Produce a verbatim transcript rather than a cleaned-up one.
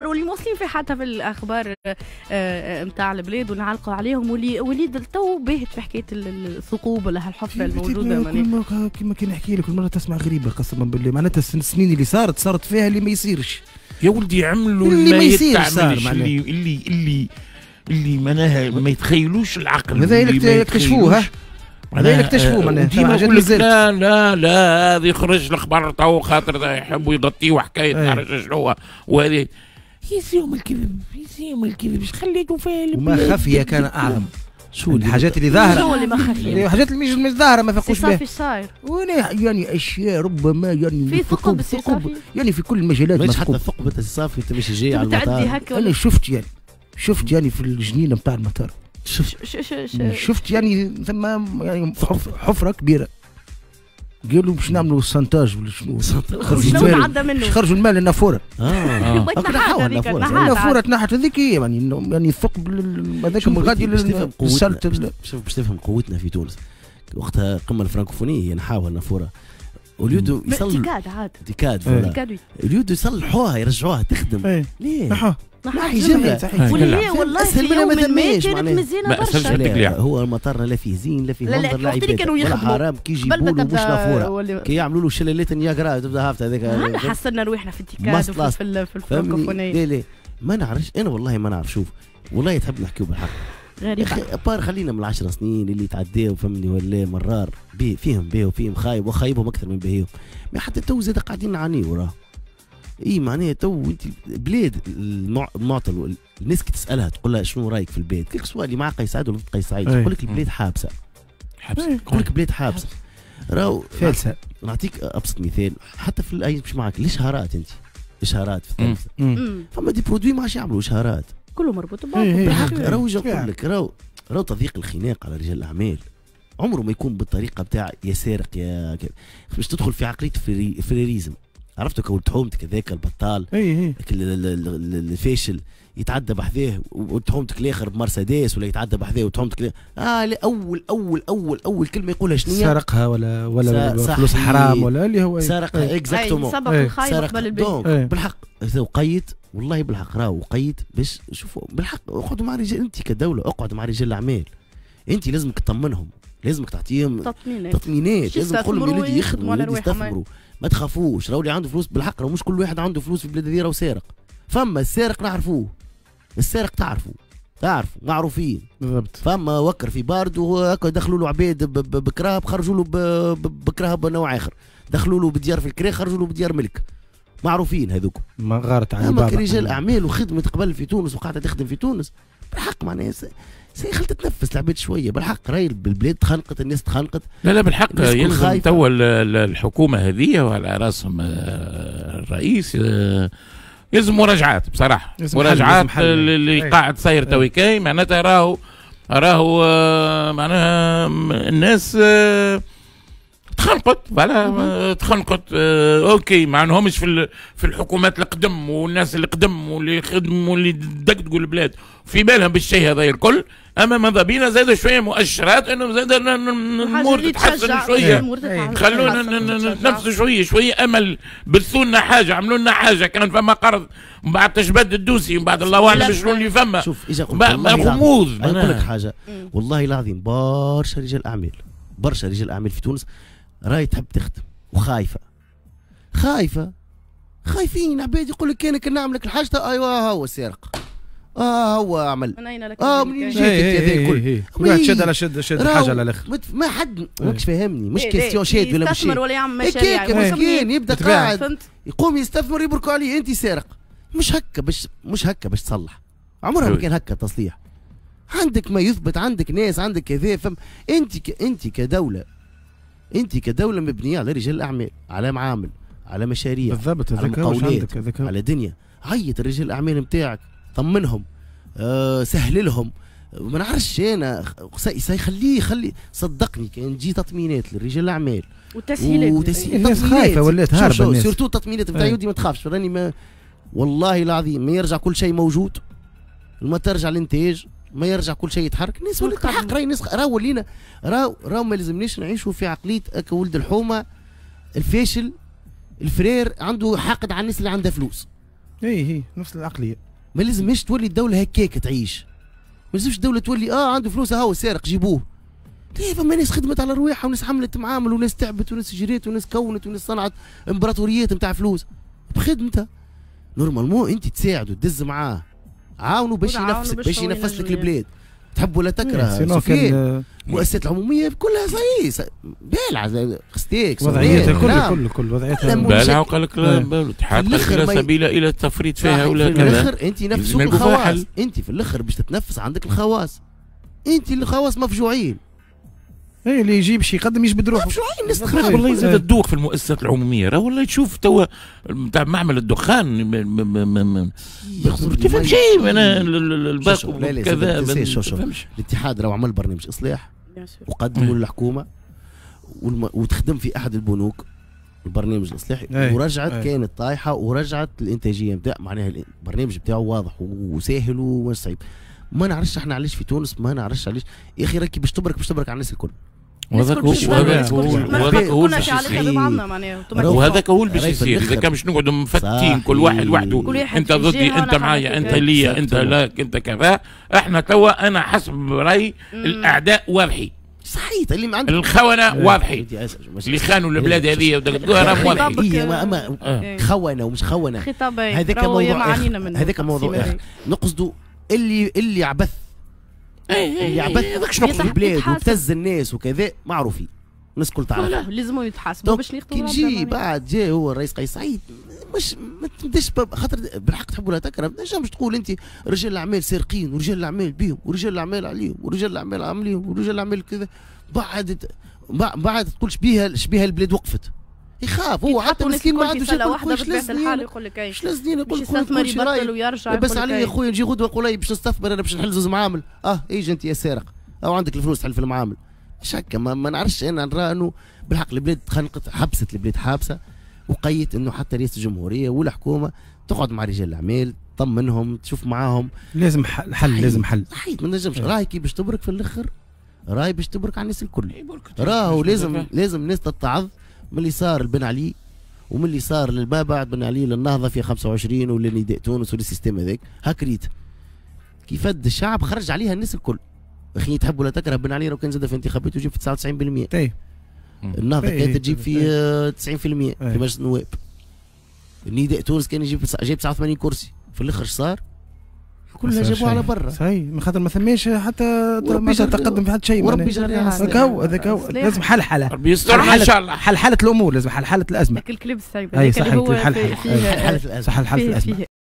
واللي موصلين في حتى في الاخبار نتاع البلاد ونعلقوا عليهم. واللي وليد تو باهت في حكاية الثقوب ولا هالحفره الموجودة. كما كما كي نحكي لك كل مرة تسمع غريبة قسما بالله، معناتها السنين اللي صارت صارت فيها اللي ما يصيرش يا ولدي، عملوا اللي ما يصيرش صار، اللي اللي اللي اللي معناها ما يتخيلوش العقل. هذا اللي اكتشفوه، هذا اللي اكتشفوه معناها. ديما يقول لك لا لا لا هذا يخرج الخبر تو خاطر يحبوا يغطيوا حكاية تعرف شنو وهذه. يزيهم الكذب، يزيهم الكذب، اش خليتوا فيها؟ وما خفي كان اعظم. شو الحاجات اللي ظاهره؟ شو اللي ما خفي؟ الحاجات اللي مش ظاهره ما فاقوش بها. صافي صاير. يعني اشياء ربما يعني في ثقب، ثقب يعني في كل المجالات. مش حتى ثقب انت صافي انت ماشي جاي على المطار. انا شفت يعني شفت يعني في الجنينة نتاع المطار شفت شفت يعني ثم يعني حفره كبيرة، قالوا باش نعملوا سانتاج ولا شنو، خرجوا الماء، خرجوا الماء للنافوره. اه النافوره النافوره تنحت هذيك هي يعني يعني الثقب هذاك غادي للسلت. شوف باش تفهم قوتنا في تونس وقتها القمه الفرنكوفونيه نحاوها النافوره وليدو يصلحوا تيكاد عاد تيكاد voilà وليدو يصلحوها يرجعوها تخدم. ليه؟ نحوها نحي جملة واللي هي والله في يوم ما كانت مزيانه برشا. هو المطار لا فيه زين لا فيه منظر لا عباده ولا حرام، كي يجيبوا له مش نافورة كي يعملوا له شلالات نياجرا تبدا هافته هذاك. احنا حسنا رواحنا في التيكاد وفي في الفرنكوفونيه. لا لا ما نعرفش انا والله ما نعرف. شوف والله تحب نحكيو بالحق غريبة. بار خلينا من العشر سنين اللي تعداو فهمني ولا مرار بي فيهم باهي وفيهم خايب وخايبهم اكثر من باهيهم، ما حتى تو زاد قاعدين نعانيو راه. اي معناها تو انت بلاد المعطل، الناس كي تسالها تقول لها شنو رايك في البلاد، كيك سواء اللي مع قيس سعيد ولا ضد قيس سعيد يقول لك البلاد حابسه. حابسه يقول لك بلاد حابسه. راهو فالسه. نعطيك ابسط مثال حتى في الاي مش معك الاشهارات، انت اشهارات في التلفزة فما des produits ما عادش يعملوا اشهارات، كله مربوط ببعض. بالحق راهو نقول لك راهو راهو تضييق الخناق على رجال الاعمال عمره ما يكون بالطريقة بتاع يا سارق يا باش تدخل في عقلية frérisme. عرفتوا كولد حومتك هذاك البطال الفاشل يتعدى بحذاه وتحومتك الاخر بمرسيدس ولا يتعدى بحذاه وتحومتك اه لا اول اول اول اول كلمة يقولها شنو؟ سرقها ولا ولا فلوس حرام ولا اللي هو سرقها exactement. سبق الخايب قبل البيت. بالحق وقيت والله بالحق راهو وقيت باش شوفوا بالحق اقعدوا مع رجال، انت كدولة اقعد مع رجال الاعمال، انت لازمك تطمنهم، لازمك تعطيهم تطمينات، تطمينات لازم تقول لهم يولدي يخدموا يولدي يستثمروا ما تخافوش، راهو اللي عنده فلوس بالحق راهو مش كل واحد عنده فلوس في البلاد هذه راهو سارق. فما السارق نعرفوه، السارق تعرفوا تعرفوا معروفين بالضبط. فما وكر في باردو هكا دخلوا له عباد بكراهب خرجوا له بكراهب نوع اخر، دخلوا له بديار في الكرا خرجوا له بديار ملك، معروفين هذوك. ما غارت على بابا. اما رجال اعمال وخدمت قبل في تونس وقاعدة تخدم في تونس بالحق معناها سي خلت تتنفس العباد شوية بالحق. راهي البلاد تخنقت، الناس تخنقت. لا لا بالحق يلزم توا الحكومة هذه وعلى راسهم الرئيس يلزم مراجعات بصراحة، مراجعات اللي قاعد صاير تويكاي معناتها راهو راهو معناها الناس تخنقت voilà تخنقت. OK ما عندهمش في في الحكومات القدم والناس اللي قدم واللي خدموا واللي دقدقوا البلاد في بالهم بالشيء هذا الكل، اما ماذا بينا زاد شوية مؤشرات انه زاد الامور تتحسن شوية، خلونا نتنفسوا شوية شوية امل، بثوا لنا حاجة، عملوا لنا حاجة، كان فما قرض من بعد تجبد ال dossier من بعد الله اعلم شنو اللي فما. شوف اجا غموض. نقول لك حاجة والله العظيم برشا رجال اعمال برشا رجال اعمال في تونس راهي تحب تخدم وخايفة خايفة خايفين عباد يقول لك كان نعمل لك الحاجة ايوا هو سارق اه هو عمل من اين لك اه منين جيت هذا الكل كل واحد شد على شد شد حاجة على الاخر ما حد ماكش فاهمني مش question شاد ولا مش يستثمر ولا يعمل مشاريع مسكين يبدا قاعد يقوم يستثمر يبركوا عليه انت سارق. مش هكا باش مش هكا باش تصلح، عمرها ما كان هكا التصليح. عندك ما يثبت، عندك ناس، عندك كذا، فهم انت ك... انت كدولة انت كدولة مبنية على رجال الاعمال، على معامل، على مشاريع، بالضبط، على مقاولات، على دنيا. عيط رجال الاعمال نتاعك، طمنهم، أه سهل لهم، ما نعرفش انا سيخليه خلي صدقني كان تجي تطمينات للرجال الاعمال وتسهيلات وتسهيل الناس خايفة ولات هاربه الناس surtout التطمينات نتاع يودي ما تخافش راني ما والله العظيم ما يرجع كل شيء موجود، ما ترجع الانتاج، ما يرجع كل شيء يتحرك. الناس ولات الحق راهي الناس راهو ولينا راهو راهو ما لازمناش نعيشوا في عقلية ولد الحومه الفاشل الفرير عنده حاقد على الناس اللي عندها فلوس. اي هي نفس العقلية. ما لازمش تولي الدولة هكاك تعيش. ما لازمش الدولة تولي اه عنده فلوس هاو سارق جيبوه. ليه فما ناس خدمت على رواحها وناس حملت معامل وناس تعبت وناس جريت وناس كونت وناس صنعت امبراطوريات نتاع فلوس بخدمتها. normalement انت تساعده تدز معاه، عاونوا باش ينفسك باش ينفس لك البلاد. تحب ولا تكره سفيان المؤسسات العمومية كلها صحيح بالعه خستيك وضعيتها كل كل كل وضعيتها بالعه. وقال لك الاتحاد لا سبيل الى التفريط فيها ولا كذا. في الاخر انت نفسك الخواص، انت في الاخر باش تتنفس عندك الخواص، انت الخواص مفجوعين. اي اللي يجيب شي يقدم يجبد روحه. مفجوعين الناس تخرب. والله زاد الدوخ في المؤسسات العمومية، راه والله تشوف توا نتاع معمل الدخان ما تفهم شيء. انا الباقي كذا الاتحاد راه عمل برنامج اصلاح وقدموا للحكومة وتخدم في احد البنوك البرنامج الاصلاحي ورجعت أي. كانت طايحة ورجعت الانتاجية نتاع معناها البرنامج بتاعه واضح وساهل ومش صعيب. ما نعرفش احنا علاش في تونس، ما نعرفش علاش يا اخي راكي باش تبرك باش تبرك على الناس الكل. وهذاك هو وهذاك هو باش يصير، وهذاك هو اللي باش يصير اذا كان باش نقعدوا مفتين كل واحد وحده، انت ضدي انت معايا انت ليا انت لا انت كذا. احنا توا انا حسب رايي الاعداء واضحين. صحيح اللي ما عندك الخونة واضحين اللي خانوا البلاد هذه ودقدوها راهم واضحين. اما خونه ومش خونه هذاك موضوع اخر، هذاك موضوع اخر. نقصدوا اللي اللي عبث اللي عبث في البلاد وابتز الناس وكذا معروفين الناس الكل تعرف. لازم يتحاسبوا باش ياخذوا. كي نجي بعد جا هو الرئيس قيس سعيد مش ما تبداش خاطر بالحق تحب ولا تكره ما تنجمش تقول انت رجال الاعمال سارقين ورجال الاعمال بيهم ورجال الاعمال عليهم ورجال الاعمال عاملين ورجال الاعمال كذا. بعد بعد تقول شبيها شبيها البلاد وقفت. يخاف هو حتى مسكين ما عندوش واحدة بطبيعة الحال يقول لك اي اش لازني يقول لك يستثمر يبطل ويرجع. بس علي يا خويا نجي غدوه نقول لي باش نستثمر انا باش نحل زوز معامل. اه ايجي انت يا سارق او عندك الفلوس تحل في المعامل. مش هكا ما, ما نعرفش انا نرى انه بالحق البلاد تخنقت حبست البلاد حابسه وقيت انه حتى رئاسة الجمهورية والحكومة تقعد مع رجال الاعمال تطمنهم تشوف معاهم. لازم حل، لازم حل. صحيح ما نجمش راهي كي باش تبرك في الاخر راهي باش تبرك على الناس الكل. راهو لازم لازم الناس تتعظ من اللي صار لبن علي ومن اللي صار لما بعد بن علي للنهضه في خمسة وعشرين ولنداء تونس ولل système هذاك. هاك ريت كيف الشعب خرج عليها الناس الكل. اخي تحب ولا تكره بن علي لو كان زاد في انتخاباته يجيب في تسعة وتسعين بالمية. اي النهضة كانت تجيب في تسعين بالمية في مجلس النواب. النداء تونس كان يجيب جايب تسعة وثمانين كرسي. في الاخر صار كلها جابوها على برا. صحيح من خاطر ما ثماش حتى تقدم في حتى شيء. وربي يجري هذاك هو هذاك هو لازم حلحله. ربي يسترنا ان شاء الله. حلحله الامور لازم حلحله الازمة. الكليب السايب هذاك اللي هو حلحله الازمة. حلحله الازمة.